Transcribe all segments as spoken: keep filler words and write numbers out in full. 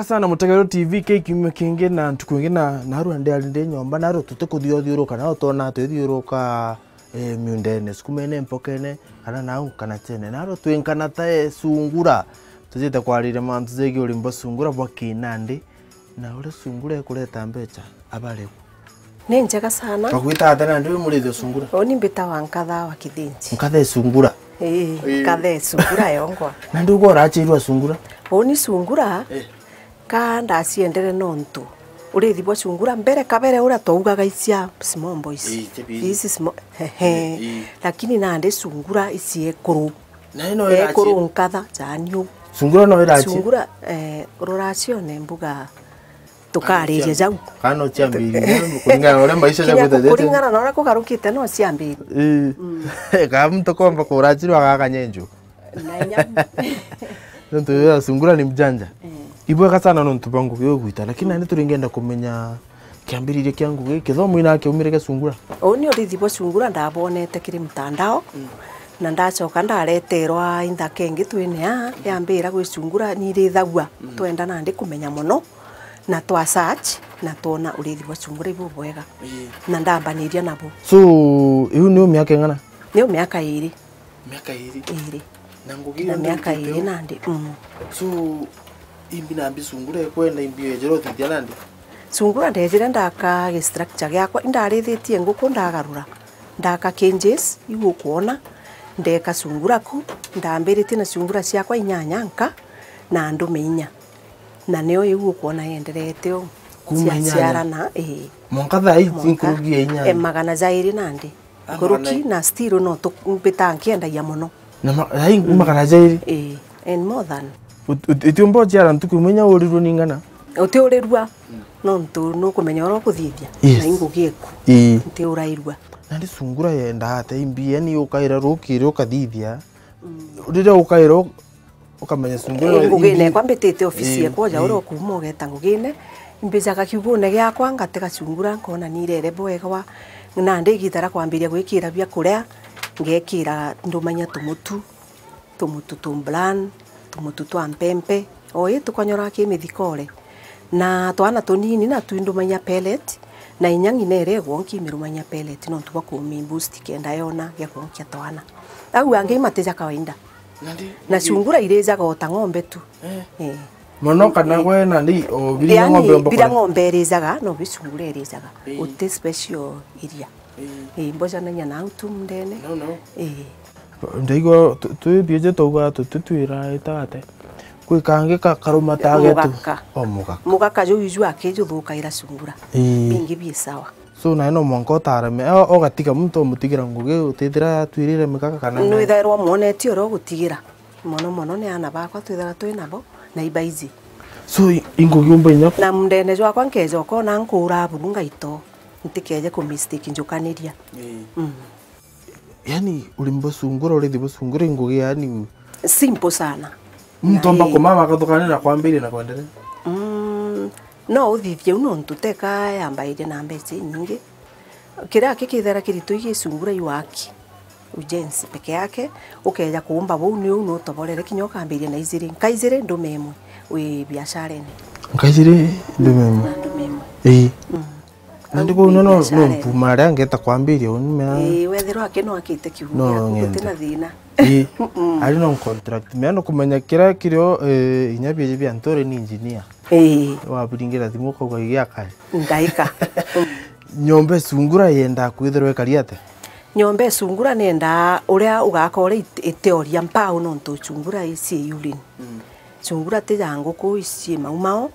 Sana Mutegero T V, ki kiumia kingi na ntuku ingi na narua ndi ari ndi nyomba, narua tutikuthia uthiuruka, narua twona twithiuruka, eh, miundene, sukumene, mpokene, kana nau, kana chene. Narua twinkana ta, eh, sungura. Tujite kwariria mantu jegii urimi bwa sungura bwa kinandi, na uria sungura ikureta mbecha, abariu. Ni njega sana. Bagwita atia nandi wi murithi o sungura? Uni mbitawa Nkatha wa Kithinji. Nkatha e sungura? Ii, Nkatha e sungura yongwa. Nandi ugwe urachirwa sungura? Uni sungura, eh, ka ndaciendere nontu urithi bwa sungura mbere kabere uria twaugaga icia small boys. Ii, ici small, hehe. Ii. Lakini nandi sungura ici ekuru. Na ino irachi- Ekuru Nkatha, jani u. Sungura no irachi- Sungura, eh, ruracione mbuga tukariria jau. Kana no ciambiririe, kuringana na uria maisha jagwita jete. Kuringana na uria kugarukite no ciambiririe. Ii. Mm. Kana muntu komba kurachirwa agakanyenjwa. Na inya. Nontu ya sungura ni mjanja. Eh. Ibwega sana nontu bwa ngugi ugwita, lakini nandi turingenda kumenya kiambiriria kia ngugi, kithomo ina kiaumire kia sungura. Uu ni urithi bwa sungura ndabonete kiri mtandao, mm, na ndacoka ndareterwa inthaka ingi twine aa, mm, yambira gwi sungura ni irithagua, mm, twenda nandi kumenya mono, na twa search, na twona urithi bwa sungura ibubwega. Ii. Na ndambaniria nabo. So, iu niu miaka ing'ana? Niu miaka iri. Miaka iri? Iri. Na ngugi iyo miaka iri nandi, mm. So, imbi nambi sungura ikwenda imbi ejera uthithia nandi? Sungura ndejire ndaka gi structure giakwa, indarithitie nguku ndagarura. Ndaka cages, iu ukwona, ndeka sungura ku, ndambiritie na sungura ciakwa inyanya nka, na ndume inya. Na nio iu ukwona yenderete uu. Kuma inyanya? Ciaciarana, ii. Mwanka thaa ii nkuruki ya inyanya? E, magana jairi nandi. Nkuruki na still no tu-, mbita nkiendagia mono. Na ma-, ai, mm, magana jairi? Ii, and more than. Ut-, ut-, utiumba uciara ntuku imwe inya urirwe ni ng'ana? Utiurirua, mm, nontu nukumenya uria ukuthithia. Yes. Na ingugi eku. Ii. Ntiurairua. Nandi sungura yenda atia imbi, yani ukaira rukiri ukathithia. Mm. Riria ukaira u-, ukamenya sungura. Ii, ngugine imbi-, ekwa mbitite ofisi, ii, ekwa ja uria, ii, ukuuma ugeta ngugine, imbijaga kiugune giakwa, ngatega sungura, nkona nirere bwega wa, nandi igita ria kwambiria gwikira bia kuria, ngekira ndumanya tumutu, tumutu tu bran, tumutu twa mpempe, o ii tukonyoraa ki mithikore. Na twana tunini natu indumanya pellet, na inya ng'ina iria igwo nkimirumanya pellet nontu bwa kumi boost kenda yona gia kunkia twana. Au angi imate ja kawaida. Nandi, na nandi sungura irijaga o ta ng'ombe tu. Eh. Eh. Mono kana, eh, gwe nandi o biria, yani, ng'ombe omba biria kona? Ng'ombe irijaga, no bi sungura irijaga. Eh. Guti special iria. Eh. Eh, mbojanagia na au tu mundene. No, no. Eh. Ndaigua tu-, twi biuji twauga tuti twira itate. Kwi kangi ka-, karuma ta getu. Mugaka. O mugaka. Mugaka juu iju aki juthukaira sungura. Ii. Bingi bi sawa. So, nawe no mwanka utareme, o-, ugatiga muntu umutigira ngugi utithira atwirire migaka kana ni? Nwithairwa umwonetie uria ugutigira. Mono mono ni aana bakwa twithira twi nabo, na ibaiji. So, i-, ingugi umba inya? Na mundene jwakwa nkeja ukona nkuura buru ngaito, ntikeje ku mistake njukaniria. Ii. Mm. Yani, urimi bwa sungura, urithi bwa sungura, ingugi yani simple sana. Muntu omba kumama akathukania na kwambiria na kwenderea? Mm, no uthithie u nontu teka yambairia na mbeca inyingi. Kiria aki kithera kiritu igi sungura iwaki. Ujenzi peke yake, ukeja kuumba buu ni uu nutoborere kinya ukambiria na ijiri. Nka ijiri ndume imwe wi biasharene. Nka ijiri ndume imwe? Na ndume imwe. Ii. Mm. Nandi kuu no, no, no mpuma aria ngeta kwambiria uni mea. Ii, wethirwa aki no akite kiugo no giaku, guti na thina. Ii. Mm-mm. Ari no contract. Mea no kumenya kiria kirio, eh, inya bieje bia ntore ni engineer. Ii. Wabiringira thimu ukauga igiakari. Ndaika. Mm. Nyomba isungura yenda kwithirwa ikari atia? Nyomba isungura nenda uria ugaka uria it-, itioria mpau nontu sungura ici urine. Mm. Sungura ti ja nguku ici maumao.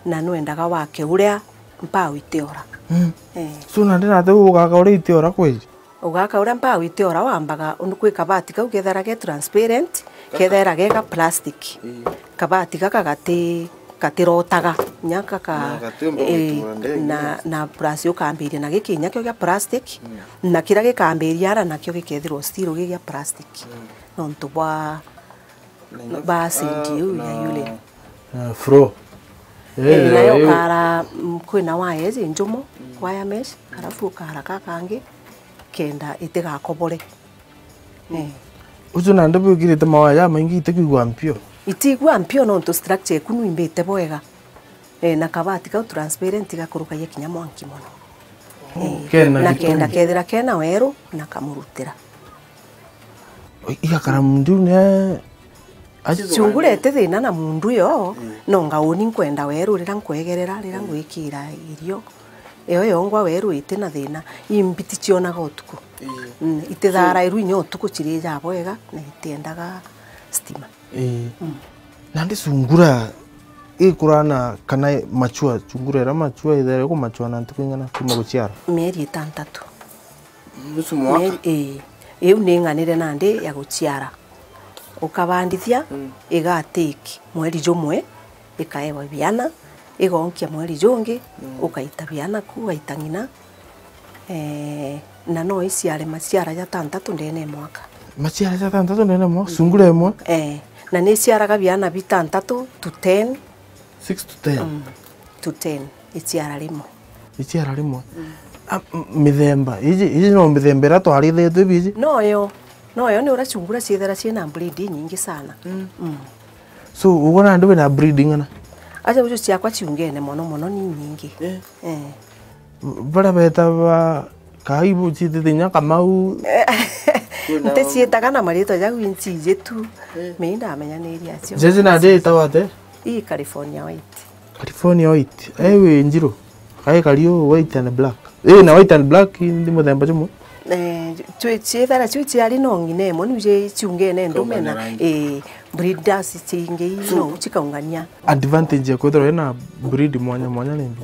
Na nwendaga wake uria mpau itiora. Mm. Eh. So, nandi nate ugaka uria itiora kweli? Ugaka uria mpau itiora wambaga, undu kwi kabati kau kethera ge transparent, kethera ge ga plastic. Mm. Kabati gaka gati, gatirotaga. Nya gaka, na gatiumba eh, gwitura ndege. Na, na plus ukambiria na giki nya kio gia plastic, mm, na kiria gikambiria ara nakio gikethirwa still gi gia plastic. Mm. Nontu bwa ba sendi iu ya yule. Na floor. Eh, nayo ukara, mm, kwina waya iji njumo, mm, wire mesh, alafu ukara ka kangi kenda itigakobore. Eh. Ucio nandi bwikirite mawaya jamaingi itikwigua mpio? Itigua mpio nontu structure eku nwimbite bwega. Eh, na kabati kau transparent gakurukagia kinya mwanki mono. Oh, eh, kena na gitumi. Kenda kethira kena weru na kamurutira. Igakara mundu ne. Sungura iti thina na mundu yo, mm, no ngauni nkwenda weru rira nkwegerera, rira, mm, ngwikira irio. Iyo yongwa weru iti na thina. Imbiti cionaga utuku. Ii. Mm, itithara iru inya utuku cirijaa bwega na itiendaga stima. Ii. Mm. Nandi sungura ikurana kana mature, sungura ira mature ithere kumachua na ntuku ing'ana kuma guciara? Mieri itantatu. Nusu mwaka? Mieri, ii. Iu ni ng'anire nandi ya guciara. Ukabandithia, mm, igatake mweri jumwe, ikaewa biana, igonkia mweri jungi, mm, ukaita biana ku, ugaita ng'ina. Eh, na no iciare maciara jatantatu ndene ya mwaka. Maciara jatantatu ndene ya mwaka? Mm. Sungura imwe? Eh, na ni iciaraga biana bitantatu to ten. Six to ten? Mm, to ten, iciara rimwe. Iciara rimwe? Mm. A, m-, mithemba, iji, iji no mithemba iria twarithetwe biji? Noyo, noyo ni uria sungura ciithira ciina breed inyingi sana. Mm. Mm. So, ugo nandi wina breed ing'ana? Aja uju ciakwa ciungene mono mono ni nyingi. Eh. Eh. Baria beta ba kaibu ciitite inya Kamau. Nticiitaga na maritwa jau, inci iji tu. Eh. Mei ndamenyaniria acio. Jeje nandi itagwa ate? Ii California White. California White. Eh, wi njiru. Kai kariu white and black. Eh, na white and black ndi muthemba jumwe. Eh, cwi ciithara cwi ciari no ng'ina imwe, niu ji ciungene ndume na, eh, breeders cingi ii no cikaungania. Advantage ya kwithirwa wina breed mwanya mwanya ni mbi?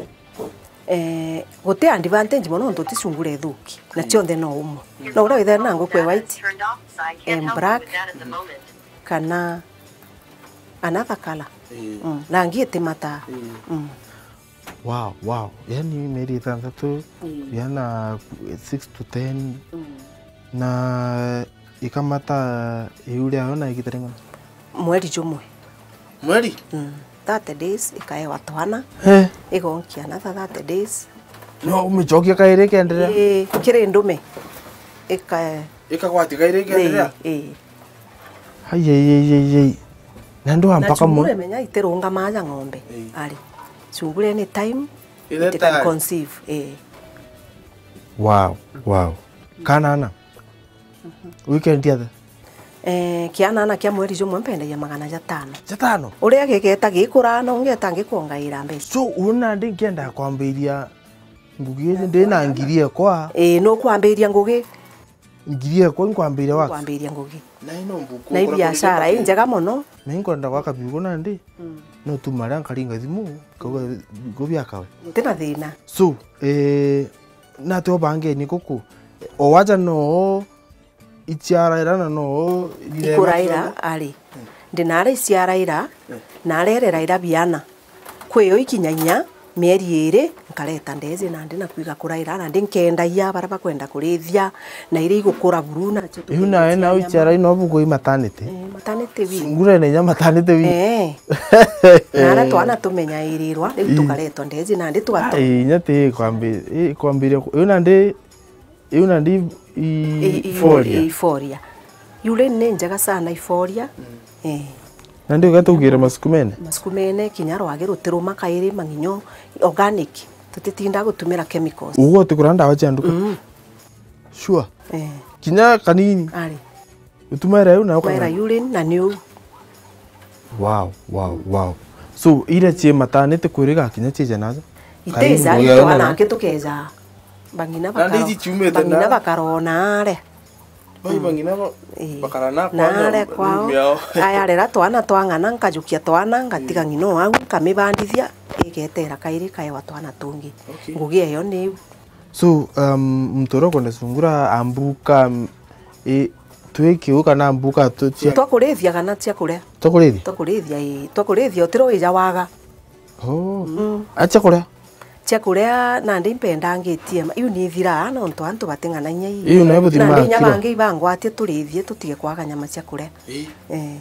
Eh, guti advantage mono nontu ti sungura ithuki, na cionthe no umwe. No uria withira na nguku e white, em, black, kana another color. Mm, rangi itimataa. Mm. Wow, wow. Yani mieri itantatu, yana six to ten, na ikamata iu riayo na igita ring'ana? Mweri jumwe. Mweri? Mm. Thirty days, ikaewa twana. Eh. Igonkia another thirty days. No umicokia kairi ikenderea? Ii, kiri ndume. Ika- Ikagwatia kairi ikenderea? Ii, ii. Ai, ai, ai, ai, ai. Na ndwa mpaka mwe. Menya itirungama aja ng'ombe. Ii. Ari. Sungura any time, it can conceive. Ii. Wow, wow. Kanana? Weekend athe? Eh, kiana na kia mweri jumwe mpendagia magana jatano. Jatano? Uria gigeta gikura, no ngeta ngikwongaira mbeca. So, uona ndi nkienda kwambiria ngugi iji ndi na ngiri ekwa? Ii, nukwambiria ngugi. Ngiri ekwa inkwambiria waka? Kwambiria ngugi. Na ino mbuku. Na ibiashara injega mono. Na inkwenda gwaka biugo nandi. Mm. No tu maria nkaringa thimu, kauga biugo biakawe. Ntina thina. So, eh, natwe obangeni guku. O waja no iciaraira na no ikuraira, ari. Ndinara iciaraira, na arereraira biana. Kwio ikinya inya mieri iri, nkareta ndezi nandi na kwiga kuraira, nandi nkendagia baria bakwenda kurithia, na iria igukura buru nacio. Iu nawe na iciaraira no bugui maternity? Eh, maternity wing. Sungura na inya maternity wing. Eh. Na aria twana tumenyairirwa, riu tukaretwa ndezi nandi tugatwa. Ai, inya ti kwambi-, i-, kwambiria ku-, iu nandi Iu nandi i-, i-, i-, iforia. Iforia. Urine ni njega sana iforia. Mm. Eh. Nandi ugatugire masukumene? Masukumene, kinya rwagi rutiruma kairi, mang'inyo organic. Tutitinda gutumira chemicals. Uguo utigura ndawa cia nduka? Mm. Sure. Eh. Kinya kanini? Ari. Utumaira iu na ukamera urine na ni uu. Wow, wow, wow. So, iria cie maternity kwiriga kinya cie janaza? Itija, itwana angi tukeja. Bang'ina bakaro-, bang'ina bakarona are. Bai bang'ina ba-, ii, bakara na kwao, na are kwao. Aya, rera twana twang'ana, nkajukia twana, ngatiga ng'ina o au, nkamibandithia, igetera kairi kaewa twana tungi. Okay. Ngugi eyo ni iu. So, um, muntu uria ukwenda sungura ambuka, um, i, twi kiu kana mbuka tu-, cia twakurithia kana cia kuria? Twakurithia? Twakurithia, ii. Twakurithia, utiro wija waga. Oh. Mm. A cia kuria? Cia kuria, nandi impendangitie ma-, iu ni ithiraa, nontu antu bating'anagia ii. Iu nayo buthima nandi inya kiro. Bangi ibangwatie turithie, tutige kwaga nyama cia kuria. Ii. Eh. Ai,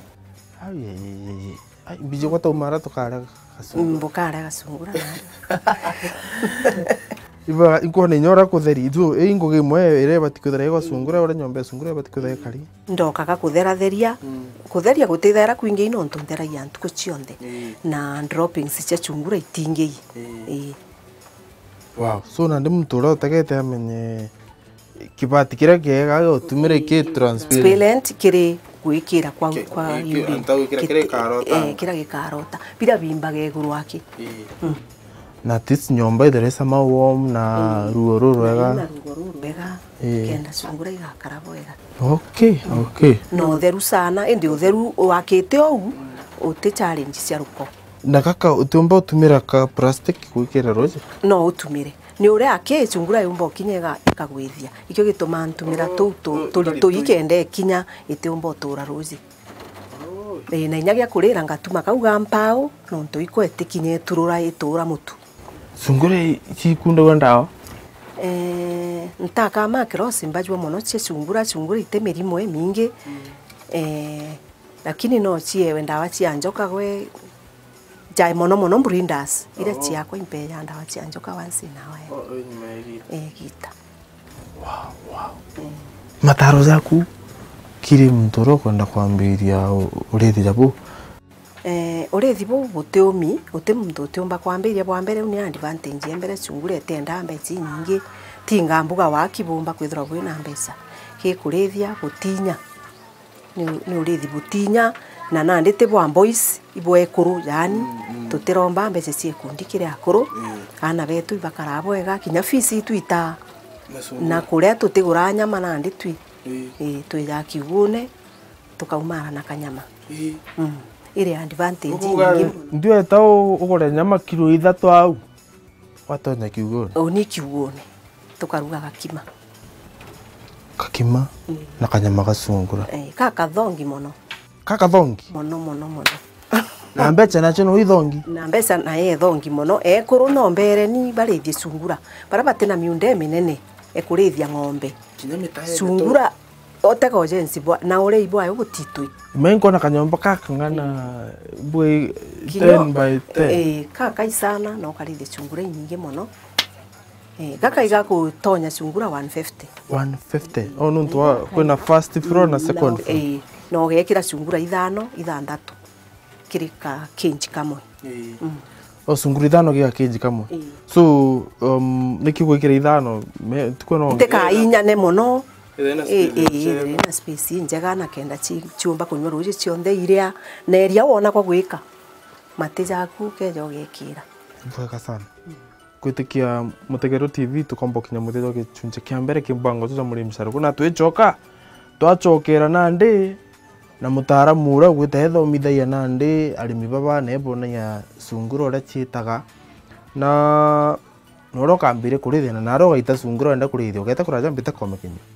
ai, ai, ai, ai. Ai, mbiji gwa taumara tukare gasungura. Mm, bukare gasungura na. Iba, inkwona inya uria kutheri. Ithu, ii ngugi imwe iria ibati kwithira igwa sungura, uria nyomba ya sungura ibati kwithira ikari. Ndokaga kutheratheria. Mm. Kutheria gutithaira kwingi, i nontu ntheragia ntuku cionthe. Ii. Na droppings cia sungura itingii. Ii. Ii. Wow. So, nandi muntu uria utegete amenye kibati kiria kiega gia utumira ki transparent. Transparent kiri gwikira kwa, ki-, kwa ki-, ki-, urine. Anta gwikira kiria gikarota. Eh, kiria gikarota. Biria bimbaga iguru aki. Ii. Mm. Na at least nyomba ithire sama warm na, mm, ruo rurwega. Na ruo rurwega, ii, kenda sungura igakara bwega. Okay, okay. Na utheru sana, indi utheru wakite ou, uti challenge cia ruko. Na gaka utiumba utumira ka plastic gwikira ruji? No utumire. Ni uria aki sungura yumba ukinya iga-, ikagwithia. Ikio gitumaa ntumira tuu tu-, oh, turi-, turi-, tui kenda ikinya itiumba utura ruji. Oh. Ii, na inya gia kurira ngatuma kau ga mpau, nontu ikwete kinya iturura itura mutu. Sungura i-, cikundagwa ndawa? Eh, ntaka ma cross mbajua mono cia sungura, sungura ite mirimo imingi. Mm. Eh, lakini no ciewe ndawa cia njoka gwe, ja mono mono breeders, iria, oh, ciakwa impeja ndawa cia njoka once in a while. Oh, ii, nyuma ya igita. Eh, igita. Wow, wow. Mm. Mataro jaku kiri muntu uria ukwenda kwambiria u-, urithi ja buu? Eh, urithi buu buti umi, guti muntu utiumba kwambiria bwa mbere, u ni advantage ya mbere, sungura itiendaa mbeca inyingi, tinga mbuga waki bumba kwithirwa bwina mbeca. Gikurithia, gutinya. Ni, ni urithi butinya, na nandi ti bwa boys, ibwa ekuru, yaani, mm, mm, tutiromba mbeca cia ikundi kiri akuru, mm, aana betu ibakaraa bwega, kinya fees itwitaa, na kuria tutiguraa nyama nandi twi, ii, ii, twijaa kiugune, tukaumara na kanyama. Ii. Mm. Iri advantage inyingi. Ndiweta u-, ugure nyama kilo ithatu au, watonya kiugune? Uni kiugune. Tukaruga gakima. Gakima, mm, na kanyama ga sungura. Eh, ka kathongi mono. Ka kathongi? Mono, mono, mono. Na mbeca nacio no ithongi? Na mbeca nayo ithongi mono. Ekuru no mbere ni barithie sungura. Baria batina miunda iminene, ekurithia ng'ombe. Kinya mitae. Sungura, otega ujenzi bwa, na urei bwayo butitwi. Mai nkona kanyomba ka kang'ana, mm, bwi kinya ten by ten. Eh, ka kaisana, no karithie sungura inyingi mono. Eh, gaka igakutonya sungura one fifty. One fifty? Oh, nontu wa, kwina first floor na second floor. Eh, na ugekira sungura ithano, ithanthatu kiri ka cage kamwe. Eh. Mm. Oh, sungura ithano kiri ka cage kamwe. Eh. So, um, niki gwikira ithano? Me, tukwe no ntika inyane mono. Ithire na space, eh, ithire na space njega na kenda ci-, ciumba kunywa ruji cionthe iria, na iria wona kwa gwika. Mati jaku ukeja ugekira. Bwega sana. Mm. Kwitikia Mutegero T V, tukomba kinya muthia jwa gichunchi kia mbere ki mbango jwa Murimi Saruku, na twichoka, twachokera nandi na mutaaramu uria ugwita ethomithagia nandi arimi baba na ebonagia sungura uria ciitaga, na, na uria ukambire kurithia, na naria ugaita sungura wenda kurithia, ugeta kuraja mbite komekinyia.